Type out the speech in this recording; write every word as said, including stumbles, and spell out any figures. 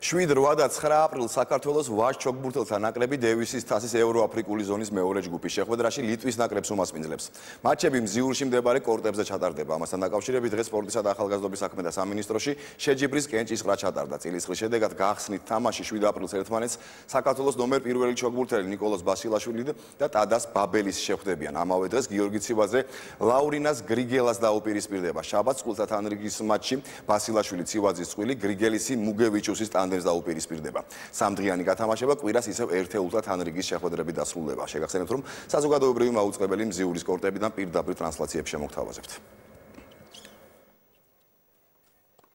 შვიდ, რვა და ცხრა აპრილს საქართველოს ვაჟ ჩოგბურთელთა ნაკრები დევისის თასის ევროაფრიკული ზონის მეორე ჯგუფის შეხვედრაში ლიტვის ნაკრებს უმასპინძლებს. მატჩები მზიურში მდებარე კორტებზე ჩატარდება. ამასთან დაკავშირებით დღეს სპორტისა და ახალგაზრდობის საქმეთა სამინისტროში შეჯიბრის კენჭისყრა ჩატარდა. წილისყრის შედეგად გახსნით თამაში შვიდ აპრილს ერთმანეთს საქართველოს ნომერ პირველი ჩოგბურთელი ნიკოლოზ ბასილაშვილი და ტადას ბაბელის შეხვდებიან. ამავე დღეს გიორგი ცივაძე ლაურინას გრიგელას დაუპირისპირდება. შაბათს წყვილთა თანრიგის მატჩში ბასილაშვილი ცივაძის წყვილი გრიგელისი მუგევიჩუსის ტანდემს დაუპირისპირდება. სამდღიანი გათამაშება კვირას ისევ ერთეულთა თანრიგის შეხვედრები დასრულდება. შეგახსენებთ, რომ საზოგადოებრივი მაუწყებელი მზიურის კორტებიდან პირდაპირ ტრანსლაციებს შემოგთავაზებთ.